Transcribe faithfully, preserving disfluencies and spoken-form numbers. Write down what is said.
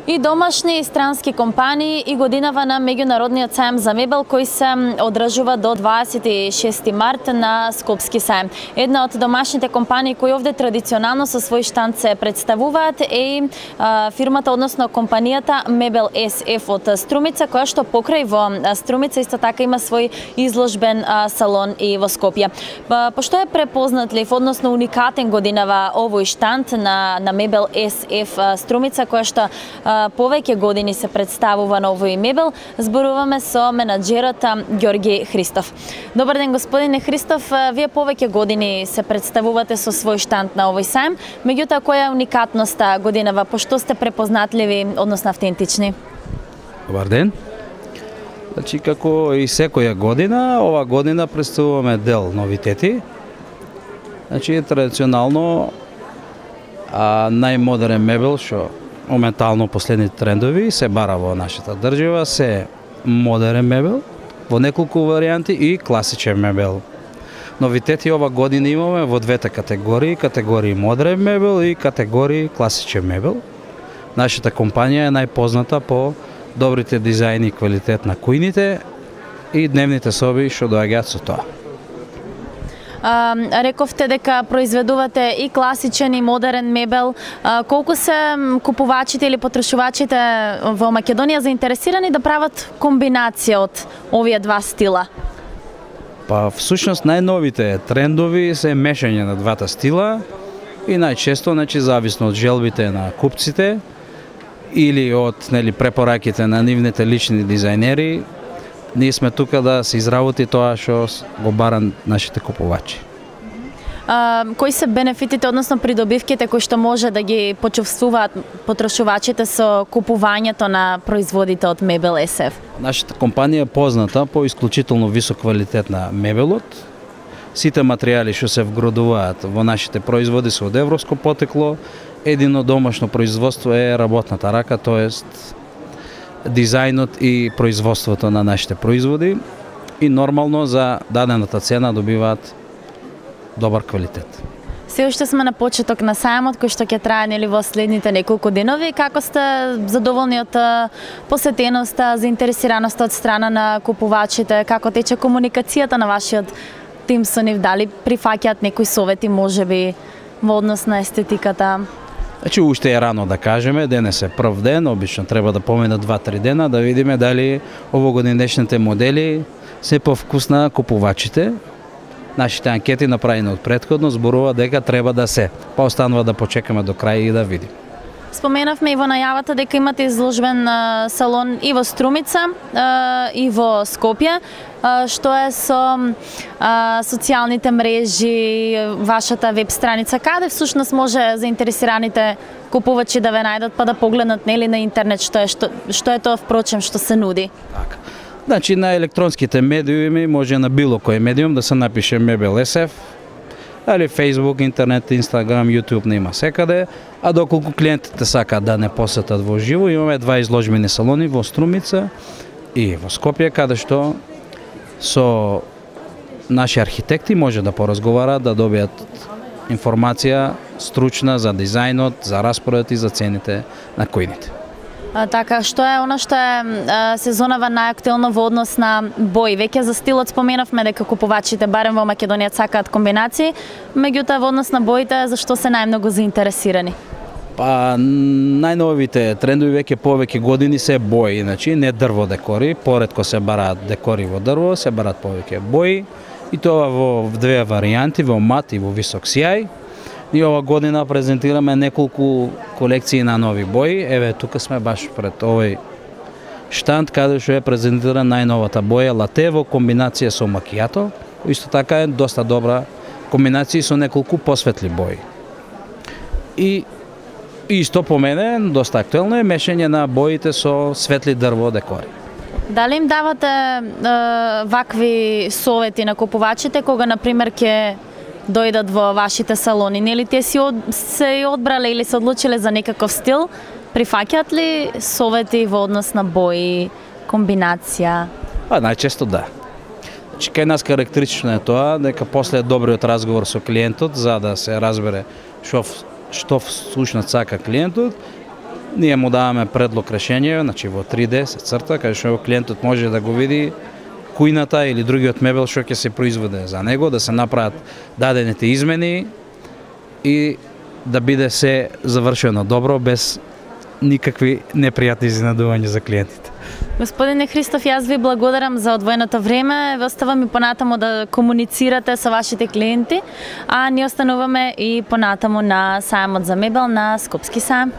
И домашни и странски компании и годинава на меѓународниот сајм за мебел кој се одржува до дваесет и шести март на Скопски сајм. Една од домашните компании кои овде традиционално со свој штанд се представуваат е а, фирмата, односно компанијата Мебел ес еф од Струмица, која што покрај во Струмица исто така има свој изложбен а, салон и во Скопје. Па, пошто е препознатлив, односно уникатен годинава овој штанд на на Мебел ес еф Струмица, која што а, повеќе години се представува на овој мебел, зборуваме со менаџерот Ѓорги Христов. Добар ден, господине Христов, вие повеќе години се представувате со свој штанд на овој сајм, меѓутоа која е уникатноста годинава, пошто сте препознатливи, односно автентични? Добар ден. Значи, како и секоја година, ова година представуваме дел новитети. Значи, традиционално а, најмодерен мебел што моментално последните трендови се бара во нашата држава, се модерен мебел во неколку варијанти и класичен мебел. Новитети ова година имаме во двете категории, категории модерен мебел и категории класичен мебел. Нашата компанија е најпозната по добрите дизајни и квалитет на кујните и дневните соби што доаѓаат со тоа. А, рековте дека произведувате и класичен и модерен мебел. А, колку се купувачите или потрошувачите во Македонија заинтересирани да прават комбинација од овие два стила? Па всушност најновите трендови се мешање на двата стила и најчесто, значи, зависно од желбите на купците или од, нели, препораките на нивните лични дизајнери, ние сме тука да се изработи тоа што го баран нашите купувачи. А, кои се бенефитите, односно придобивките кои што може да ги почувствуваат потрошувачите со купувањето на производите од Мебел ес еф? Нашата компанија е позната по исклучително висок квалитет на мебелот. Сите материјали што се вградуваат во нашите производи се од европско потекло. Едино домашно производство е работната рака, тоест дизајнот и производството на нашите производи и нормално за дадената цена добиваат добар квалитет. Се уште сме на почеток на сајмот кој што ќе трае, нели, во следните неколку денови. Како сте задоволни од посетеноста, заинтересираноста од страна на купувачите? Како тече комуникацијата на вашиот тим со нив? Дали прифаќаат некои совети можеби во однос на естетиката? Значи, уште е рано да кажеме, денес е прв ден, обично треба да поминат два-три дена да видиме дали овогодинешните модели се повкус на купувачите. Нашите анкети направени од претходно зборува дека треба да се, па останува да почекаме до крај и да видим. Споменавме и во најавата дека имате изложбен а, салон и во Струмица а, и во Скопје. А, што е со а, социјалните мрежи, вашата веб страница, каде всушност може заинтересираните купувачи да ве најдат па да погледнат, нели, на интернет што е што, што е тоа впрочем што се нуди? Така. Значи, на електронските медиуми може на било кој медиум да се напише Мебел ес еф, али Facebook, интернет, Instagram, YouTube нема секаде, а доколку клиентите сакаат да не посетат во живо, имаме два изложбени салони во Струмица и во Скопје, каде што со наши архитекти може да поразговараат, да добијат информација стручна за дизајнот, за распоред и за цените на којните. А, така, што е она што е а, сезонава најактуелно во однос на бои? Веќе за стилот споменавме дека купувачите барем во Македонија сакаат комбинации, меѓутоа во однос на боите зашто се најмногу заинтересирани? Па најновите трендови веќе повеќе години се бои, значи не дрво декори, поретко се бараат декори во дрво, се бараат повеќе бои и тоа во две варијанти, во мат и во висок сјај. И ова година презентираме неколку колекции на нови бои. Еве, тука сме баш пред овој штанд каде што е презентирана најновата боја лате во комбинација со макијато. Исто така е доста добра комбинација со неколку посветли бои. И исто по мене, доста актуелно е мешање на боите со светли дрво декори. Дали им давате е, вакви совети на купувачите кога, например, ќе дојдат во вашите салони? Нели те си од, се одбрале или се одлучиле за некаков стил? Прифаќаат ли совети во однос на бои, комбинација? Па најчесто да. Значи, кај нас карактеристично е тоа дека после добриот разговор со клиентот, за да се разбере што што всушност сака клиентот, ние му даваме предлог решение, значи во три Д се црта, каде што клиентот може да го види кујната или другиот мебел што ќе се произведе за него, да се направат дадените измени и да биде се завршено добро, без никакви непријатни изненадувања за клиентите. Господине Христов, јас ви благодарам за одвоеното време. Ве оставам и понатаму да комуницирате со вашите клиенти, а ние остануваме и понатаму на сајмот за мебел на Скопски сајм.